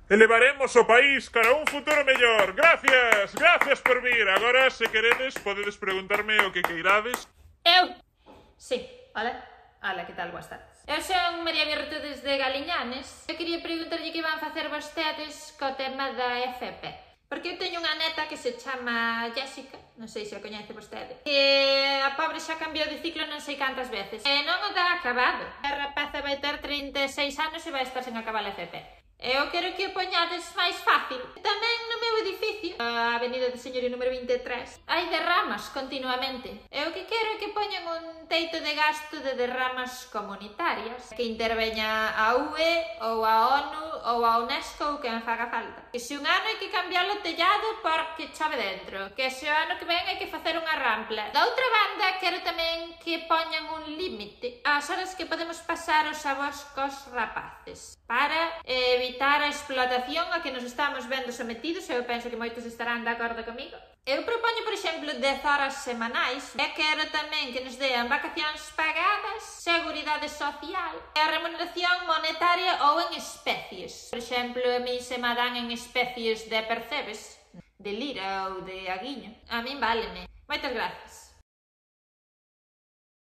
Elevaremos o país cara a un futuro mellor. Gracias, gracias por vir. Agora, se queredes, podedes preguntarme o que queirades. Eu? Sí, hola. Hola, que tal, boas tardes. Eu son María Virtudes de Galiñanes. Eu quería preguntarlle que van facer vostedes co tema da FP. Porque eu teño unha neta que se chama Jessica, non sei se a coñece vostede, que a pobre xa cambiou de ciclo non sei cantas veces. E non o dá acabado. A rapaza vai ter 36 anos e vai estar sen acabar a FP. Eu quero que o poñades máis fácil. Tamén no meu edificio, a avenida de Señorío número 23, hai derramas continuamente. Eu que quero é que poñan un teito de gasto de derramas comunitarias, que interveña a UE ou a ONU ou a UNESCO ou quen faga falta. Que se un ano hai que cambiar o tellado porque chove dentro, que se o ano que ven hai que facer unha rampla. Da outra banda, quero tamén que poñan un límite ás horas que podemos pasar os avós cos rapaces, para evitar a explotación a que nos estamos vendo sometidos. Eu penso que moitos estarán de acordo comigo. Eu propoño, por exemplo, 10 horas semanais e quero tamén que nos dean vacacións pagadas, seguridade social e a remuneración monetaria ou en especies. Por exemplo, a mí se me dan en especies de percebes, de lira ou de aguiño. A min váleme. Moitas grazas.